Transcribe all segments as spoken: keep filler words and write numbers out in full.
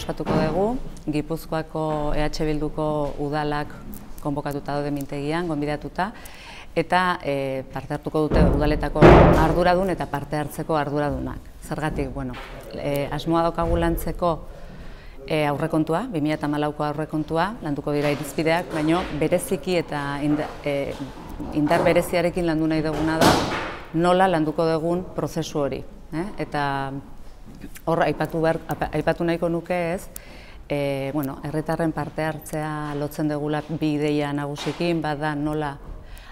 ospatuko dugu, Gipuzkoako E H Bilduko udalak konbokatuta daude mintegian, gonbidatuta, eta e, parte hartuko dute udaletako arduradun eta parte hartzeko arduradunak. Zergatik, bueno, e, asmoa daukagu lantzeko e, aurrekontua, bi mila hamalauko aurrekontua, landuko dira irizpideak, baino bereziki eta indar, e, indar bereziarekin landu nahi duguna da, nola landuko dugun prozesu hori. Eh? Eta hor, aipatu, behar, aipatu nahiko nuke ez, e, bueno, herritarren parte hartzea lotzen dugula bi ideia nagusikin, bada nola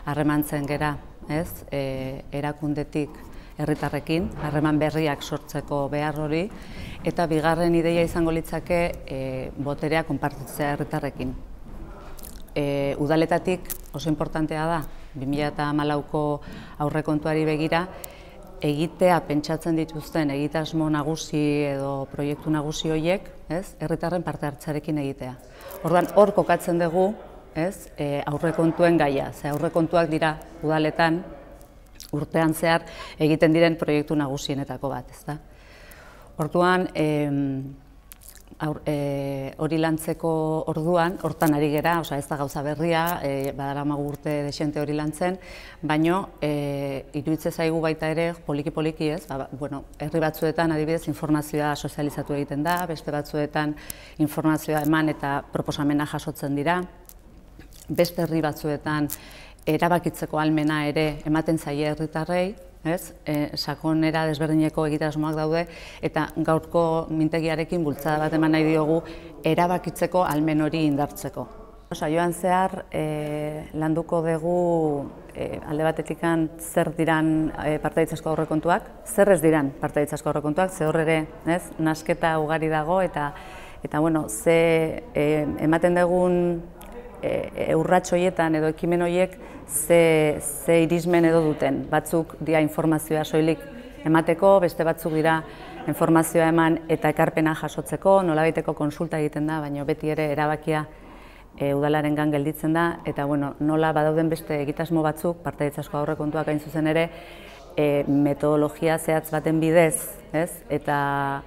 harremantzen gera, ez, e, erakundetik herritarrekin, harreman berriak sortzeko behar hori, eta bigarren ideia izango litzake e, boterea konpartitzea herritarrekin. E, udaletatik oso importantea da, bi mila hamalauko aurrekontuari begira, egitea pentsatzen dituzten egitasmo nagusi edo proiektu nagusi horiek, ez, herritarren parte hartzarekin egitea. Orduan, hor kokatzen dugu, ez, e, aurrekontuen gaia, ze aurrekontuak dira udaletan urtean zehar egiten diren proiektu nagusienetako bat, ezta. Orduan, e, Aur, e, hori lantzeko orduan, hortan ari gera, oza, ez da gauza berria, e, badaramagu urte desente hori lantzen, baino e, iruditzen zaigu baita ere, poliki-poliki ez, ba, bueno, herri batzuetan adibidez informazioa sozializatu egiten da, beste batzuetan informazioa eman eta proposamena jasotzen dira, beste herri batzuetan erabakitzeko ahalmena ere ematen zaie herritarrei, ez, e, sakonera desberdineko egitasmoak daude, eta gaurko mintegiarekin bultzada bat eman nahi diogu erabakitzeko ahalmen hori indartzeko. Saioan zehar e, landuko dugu e, alde batetikan zer diran e, partaitzazko aurrekontuak, zer ez diran partaitzazko aurrekontuak, ze hor ere, ez, nasketa ugari dago, eta, eta bueno, ze e, ematen dugun e, urrats horietan edo ekimen horiek ze, ze irismen edo duten. Batzuk dira informazioa soilik emateko, beste batzuk dira informazioa eman eta ekarpena jasotzeko, nolabaiteko konsulta egiten da, baina beti ere erabakia e, udalarengan gelditzen da, eta bueno, nola badauden beste egitasmo batzuk, partaitzazko aurrekontuak hain zuzen ere, e, metodologia zehatz baten bidez, ez? Eta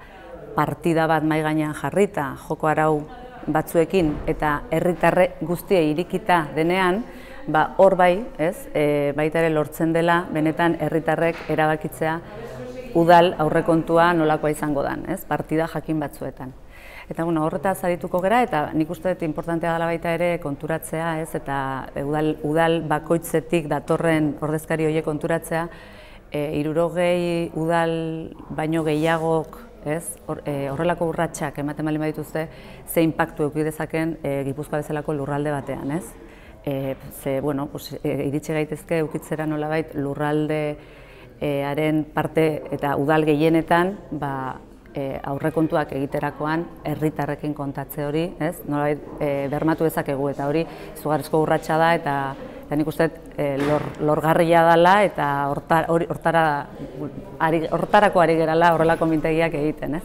partida bat mahai gainean jarrita, joko arau batzuekin eta herritarre guztiei irikita denean, ba hor bai, ez, e, baita ere lortzen dela benetan herritarrek erabakitzea udal aurrekontua nolakoa izango dan, ez, partida jakin batzuetan. Eta bueno, horretaz arituko gera, eta nik uste dut inportantea dela baita ere konturatzea, ez, eta udal, udal bakoitzetik datorren ordezkari horiek konturatzea, e, hirurogei udal baino gehiagok, ez, hor, e, horrelako urratsak ematen baldin badituzte, ze inpaktu eduki dezaken e, Gipuzkoa bezalako lurralde batean, ez? E, ze, bueno, pues, e, iritsi gaitezke eukitzera nolabait lurraldearen parte eta udal gehienetan, ba, e, aurrekontuak egiterakoan herritarrekin kontatze hori, ez? Nolabait e, bermatu dezakegu, eta hori izugarrizko urratsa da, eta eta nik uste e, lor, lorgarria dela, eta hortar, hortara, hortarako ari gerala horrelako mintegiak egiten, ez?